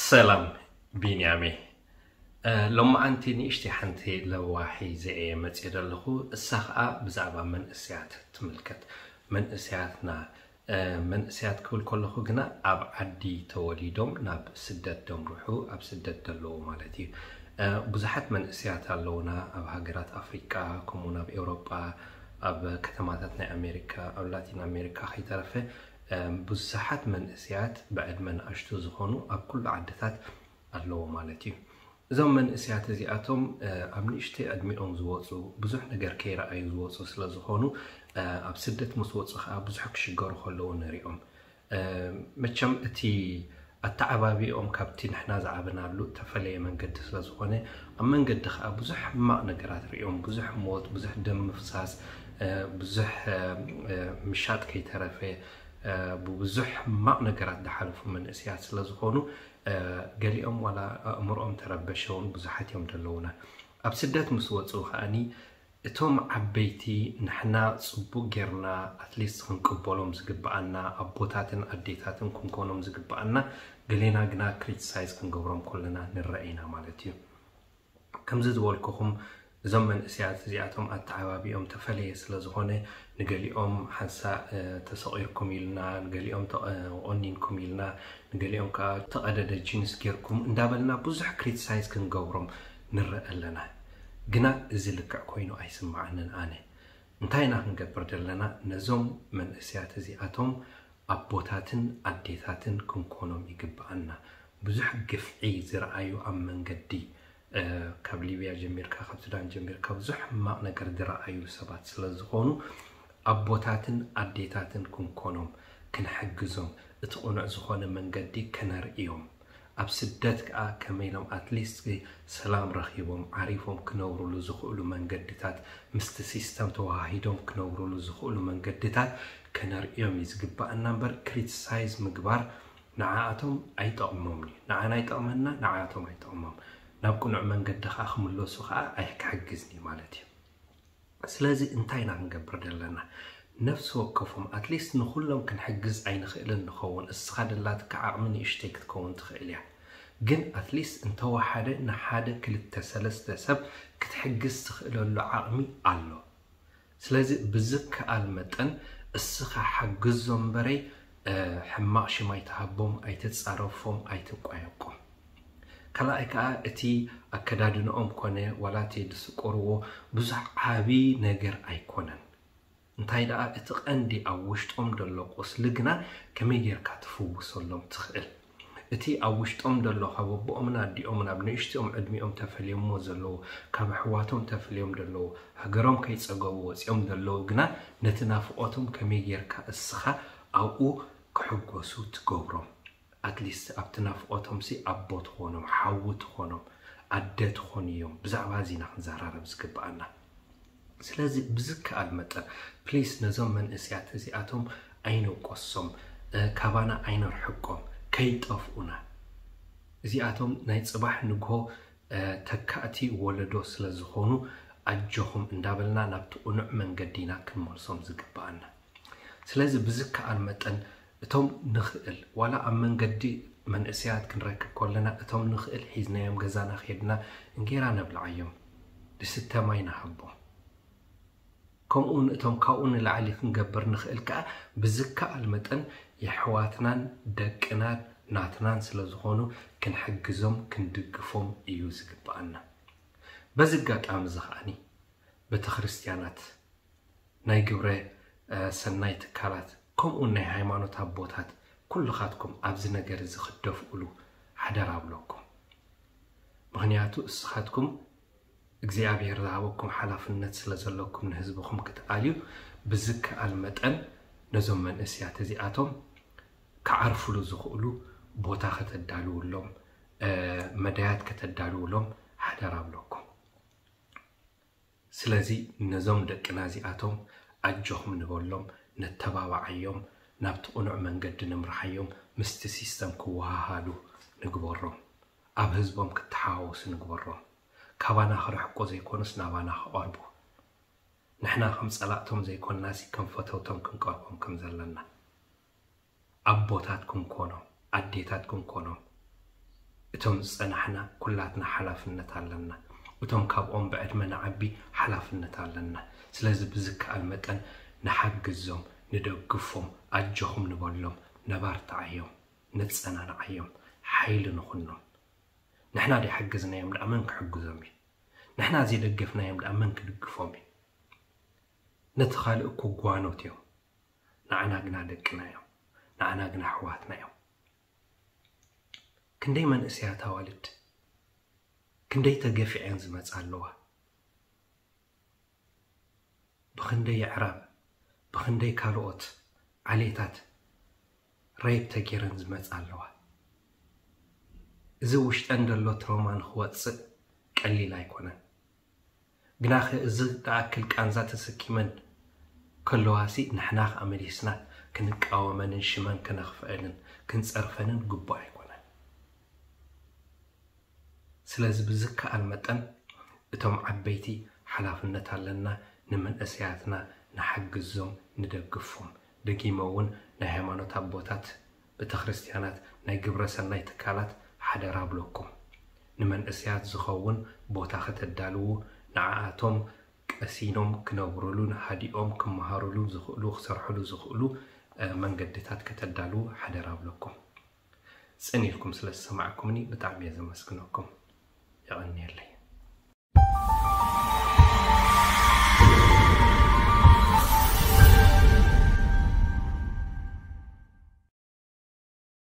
ሰላም ቢንያሜ። ሎማዓንቲ ንእሽቲ ሓንቲ ለዋሒ ዘየ መፅእ ዘለኹ፣ እሳ ከዓ ብዛዕባ መንእስያት ትምልከት። መንእስያትና መንእስያት ክብል ከለኹ ግና ኣብ ዓዲ ተወሊዶም ናብ ስደት ደምርሑ ኣብ ስደት ዘለዉ ማለት እዩ። ብዙሓት መንእስያት ኣለውና ኣብ ሃገራት ኣፍሪቃ፣ ከምኡ ናብ ኤውሮጳ፣ ኣብ ከተማታት ናይ ኣሜሪካ፣ ኣብ ላቲን ኣሜሪካ ከይተረፈ ብዙሓት መንእስያት ብዕድመ ንኣሽቱ ዝኾኑ ኣብ ኩሉ ዓድታት ኣለዎ ማለት እዩ። እዞም መንእስያት እዚኣቶም ኣብ ንእሽተይ ዕድሚኦም ዝወፁ፣ ብዙሕ ነገር ከይረኣዩ ዝወፁ ስለ ዝኾኑ፣ ኣብ ስደት ምስ ወፁ ከዓ ብዙሕ ክሽገሩ ከለዉ ንሪኦም። መቸም እቲ ኣተዓባቢኦም ካብቲ ንሕና ዝዓበናሉ እተፈለየ መንገዲ ስለ ዝኾነ፣ ኣብ መንገዲ ከዓ ብዙሕ ሕማቕ ነገራት ሪኦም፣ ብዙሕ ሞት፣ ብዙሕ ደም ምፍሳስ፣ ብዙሕ ምሻጥ ከይተረፈ ብብዙሕ ሕማቕ ነገራት ዝሓለፉ መንእስያት ስለ ዝኾኑ፣ ገሊኦም ዋላ ኣእምሮኦም ተረበሸውን ብዙሓት እዮም ዘለውና። ኣብ ስደት ምስ ወፁ ከዓኒ እቶም ዓበይቲ ንሕና ፅቡቅ ጌርና ኣትሊስት ክንቅበሎም ዝግብኣና ኣቦታትን ኣዴታትን ክንኮኖም ዝግብኣና፣ ገሌና ግና ክሪቲሳይዝ ክንገብሮም ከለና ንረአ ኢና ማለት እዩ። ከምዚ ዝበልኩኹም እዞም መንእስያት እዚኣቶም ኣተዓባቢኦም ተፈለየ ስለ ዝኾነ፣ ንገሊኦም ሓንሳእ ተሰቒርኩም ኢልና፣ ንገሊኦም ተቐ- ኦኒንኩም ኢልና፣ ንገሊኦም ከዓ ተቐደደ ጂንስ ጌርኩም እንዳበልና ብዙሕ ክሪቲሳይዝ ክንገብሮም ንረአ ኣለና። ግና እዚ ልክዕ ኮይኑ ኣይስምዓንን ኣነ። እንታይ ኢና ክንገብር ዘለና? ነዞም መንእስያት እዚኣቶም ኣቦታትን ኣዴታትን ክንኮኖም ይግብኣና። ብዙሕ ግፍዒ ዝረኣዩ ኣብ መንገዲ፣ ካብ ሊብያ ጀሚርካ፣ ካብ ሱዳን ጀሚርካ ብዙሕ ሕማቕ ነገር ዝረኣዩ ሰባት ስለ ዝኾኑ፣ ኣቦታትን ኣዴታትን ክንኮኖም፣ ክንሕግዞም፣ እቲ ቅኑዕ ዝኾነ መንገዲ ከነርእዮም። ኣብ ስደት ከኣ ከመይ ኢሎም ኣትሊስት ሰላም ረኺቦም ዓሪፎም ክነብሩሉ ዝኽእሉ መንገድታት፣ ምስቲ ሲስተም ተወሃሂዶም ክነብሩሉ ዝኽእሉ መንገድታት ከነርእዮም እዩ ዝግባኣና እምበር፣ ክሪቲሳይዝ ምግባር ንዓኣቶም ኣይጠቕሞምን እዩ። ንዓና ይጠቕመና፣ ንዓኣቶም ኣይጠቕሞም። ናብ ቅኑዕ መንገዲ ከኣ ክምለሱ ከኣ ኣይ- ክሕግዝን እዩ ማለት እዩ። ስለዚ እንታይ ኢና ክንገብር ዘለና? ነፍሲ ወከፎም ኣትሊስት ንኹሎም ክንሕግዝ ኣይንኽእልን ንኸውን። እስኻ ደላትካ ዓቕሚ ንእሽተይ ክትከውን ትኽእል እያ፣ ግን ኣትሊስት እንተወሓደ ንሓደ ክልተ ሰለስተ ሰብ ክትሕግዝ ትኽእለሉ ዓቕሚ ኣሎ። ስለዚ ብዝከኣል መጠን እስኻ ሓግዞም እምበረይ ሕማቕ ሽም ኣይትሃቦም፣ ኣይትጻረፎም፣ ኣይትቋየቆም። ካልኣይ ከኣ እቲ ኣከዳድንኦም ኮነ ዋላ እቲ ዝስቆርዎ ብዙሕ ዓቢ ነገር ኣይኮነን። እንታይ ደኣ እቲ ቀንዲ ኣብ ውሽጦም ዘሎ ቁስሊ ግና ከመይ ጌርካ ትፍውሰሎም ትኽእል? እቲ ኣብ ውሽጦም ዘሎ ካብ ኣቦኦምን ኣዲኦምን ኣብ ንእሽትኦም ዕድሚኦም ተፈልዮምዎ ዘለዉ፣ ካብ ኣሕዋቶም ተፈልዮም ዘለዉ፣ ሃገሮም ከይጸገቡ ወጺኦም ዘለዉ ግና ነቲ ናፍቖቶም ከመይ ጌርካ እስኻ ኣብኡ ክሕጎሱ ትገብሮም? ኣትሊስት ኣብቲ ናፍቖቶም ሲ ኣቦ ትኾኖም፣ ሓዊ ትኾኖም፣ ኣደ ትኾኑ እዮም። ብዛዕባ እዚ ኢና ክንዘራረብ ዝግብኣና። ስለዚ ብዝከኣል መጠን ፕሊስ ነዞም መንእስያት እዚኣቶም ኣይንውቀሶም፣ ካባና ኣይነርሕቆም፣ ከይጠፍኡና። እዚኣቶም ናይ ጽባሕ ንግሆ ተካእቲ ወለዶ ስለ ዝኾኑ ኣጆኹም እንዳበልና ናብቲ ቅኑዕ መንገዲ ኢና ክንመልሶም ዝግብኣና። ስለዚ ብዝከኣል መጠን እቶም ንኽእል ዋላ ኣብ መንገዲ መንእስያት ክንረክብ ከለና እቶም ንኽእል ሒዝናዮም ገዛና ኬድና እንጌራ ነብልዓዮም፣ ድስተ ማይ ንሃቦም። ከምኡ እውን እቶም ካብኡ ንላዕሊ ክንገብር ንኽእል ከኣ ብዝከኣል መጠን የሕዋትናን ደቅናን ናትናን ስለ ዝኾኑ ክንሕግዞም ክንድግፎም እዩ ዝግብኣና። በዚ ኣጋጣሚ እዚ ከኣኒ ቤተ ክርስትያናት፣ ናይ ግብረ ሰናይ ትካላት ከምኡውን ናይ ሃይማኖት ኣቦታት ኩልኻትኩም ኣብዚ ነገር እዚ ክትደፍኡሉ ሓደራ እብለኩም። ምኽንያቱ እስኻትኩም እግዚኣብሔር ዝሃበኩም ሓላፍነት ስለ ዘለኩም ንህዝብኹም ክትኣልዩ ብዝከኣል መጠን ነዞም መንእስያት እዚኣቶም ክዓርፍሉ ዝኽእሉ ቦታ ከተዳልውሎም፣ መዳያት ከተዳልውሎም ሓደራ እብለኩም። ስለዚ ነዞም ደቅና እዚኣቶም ኣጆኹም ንበሎም፣ ነተባብዓዮም፣ ናብቲ ቅኑዕ መንገዲ ንምርሓዮም፣ ምስቲ ሲስተም ክወሃሃዱ ንግበሮም፣ ኣብ ህዝቦም ክተሓዋወሱ ንግበሮም። ካባና ክርሕቁ ዘይኮኑስ ናባና ክቐርቡ። ንሕና ከም ጸላእቶም ዘይኮንናሲ ከም ፈተውቶም ክንቀርቦም ከም ዘለና። ኣቦታት ክንኮኖም፣ ኣዴታት ክንኮኖም፣ እቶም ዝጸናሕና ኩላትና ሓላፍነት ኣለና። እቶም ካብኦም ብዕድመ ንዓቢ ሓላፍነት ኣለና። ስለዚ ብዝከኣል መጠን ንሓግዞም፣ ንደግፎም፣ ኣጆኹም ንበሎም፣ ነባርትዓዮም፣ ነጸናንዓዮም፣ ሓይሊ ንኹኖም። ንሕና ዘይሓገዝናዮም ደኣ መን ክሕግዞም እዩ? ንሕና ዘይደገፍናዮም ደኣ መን ክድግፎም እዩ? ነቲ ካልእ እኮ ጓኖት እዮም። ንዓና ግና ደቅና እዮም። ንዓና ግና ኣሕዋትና እዮም። ክንደይ መንእሰያት ኣዋልድ ክንደይ ተገፊዐን ዝመጻ ኣለዋ። ብኽንደይ ኣዕራብ፣ ብኽንደይ ካልኦት ዓሌታት ሬፕ ተገይረን ዝመጻ ኣለዋ። እዚ ውሽጠን ዘሎ ትሮማ ንኽወጽእ ቀሊል ኣይኮነን። ግናኸ እዚ ዝኣክል ቃንዛ ተሰኪመን ከለዋሲ ንሕና ኸኣ መሊስና ክንቃወመንን ሽመን ከነኽፍአንን ክንጸርፈንን ግቡእ ኣይኮነን። ስለዚ ብዝከኣል መጠን እቶም ዓበይቲ ሓላፍነት ኣለና፣ ንመንእሰያትና ንሓግዞም፣ ንደግፎም። ደጊመ እውን ናይ ሃይማኖት ኣቦታት፣ ቤተ ክርስቲያናት፣ ናይ ግብረ ሰናይ ትካላት ሓደራ ብለኩም። ንመንእሰያት ዝኸውን ቦታ ከተዳልዉ፣ ንዓኣቶም ቀሲኖም ክነብሩሉን ሃዲኦም ክመሃሩሉ ዝኽእሉ፣ ክሰርሕሉ ዝኽእሉ፣ እ፣ መንገድታት ከተዳልዉ ሓደራ ብለኩም። ጽን ኢልኩም ስለ ዝሰማዕኩምኒ ብጣዕሚ እየ ዘመስግነኩም። የቐንየለይ።